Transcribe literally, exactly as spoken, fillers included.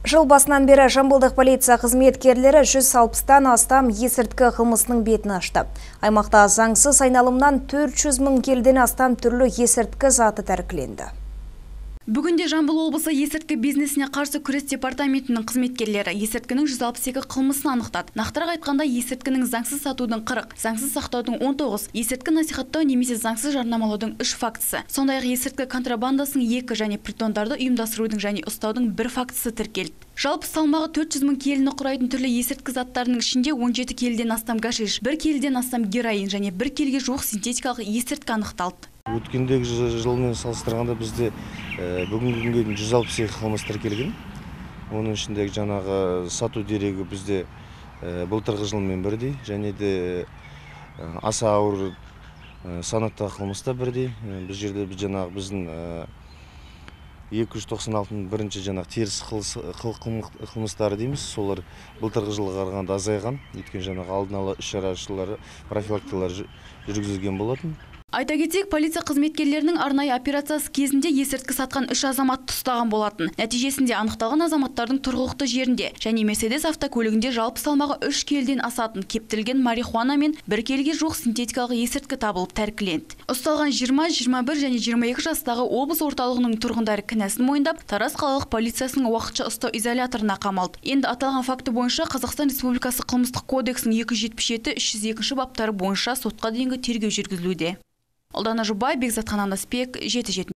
Жыл басынан бері Жамбылдық полиция қызметкерлері жүз алпыстан астам есірткі қылмысының бетін ашты. Аймақта заңсыз айналымнан төрт жүз мың келіден астам түрлі есірткі заты тәркіленді. Бүгінде Жамбыл облысы есірткі бизнесіне қарсы күрес департаментінің қызметкерлері есірткінің жүз алпыс екі қылмысын анықтады. Нақтырақ айтқанда, есірткінің заңсыз сатудың қырық, заңсыз сақтаудың он тоғыз, есірткі насихаттау немесе заңсыз жарнамалаудың үш фактісі. Сондай-ақ есірткі контрабандасының екі және притондарды ұйымдастырудың және ұстаудың бір фактісі тіркелді. Жалпы салмағы төрт жүз мың келіні құрайтын түрлі есірткі заттарының ішінде он жеті келіден астам гашиш, бір келіден астам героин және бір келіге жуық синтетикалық есірткі анықталды. Өткендегі жылмен салыстырғанда бізде бүгінгі күнге дейін жүз алпыс екі қылмыс тіркелген. Оның ішіндегі жаңағы сату дерегі бізде былтырғы жылмен бірдей, және де аса ауыр санаттағы қылмыста бірдей. Біз жерде біз жаңағы біздің екі жүз тоқсан алтының бірінші жаңағы теріс қылмыстары дейміз, солар былтырғы жылға қарағанда азайған. Өйткені жаңағы алдын ала іс-шаралары, профилактикалар жүргізілген болатын. Айта кетсек, полиция қызметкерлерінің арнайы операциясы кезінде есірткі сатқан үш азаматты ұстаған болатын. Нәтижесінде анықталған азаматтардың тұрғылықты жерінде және Мерседес автокөлігінде жалпы салмағы үш келіден асатын кептірілген марихуана мен бір келіге жуық синтетикалық есірткі табылып тәркіленді. Ұсталған жиырма, жиырма бір және жиырма екі жастағы облыс орталығының тұрғындары кінәсін мойындап, Тараз қалалық полициясының уақытша ұстау изоляторына қамалды. Енді аталған факті бойынша Қазақстан Республикасы қылмыстық кодексінің екі жүз жетпіс жеті, үш жүз екінші баптары бойынша сотқа дейінгі тергеу жүргізілуде. Ұлдана Жұбай, Бекзат Қананасбек, жеті жеті.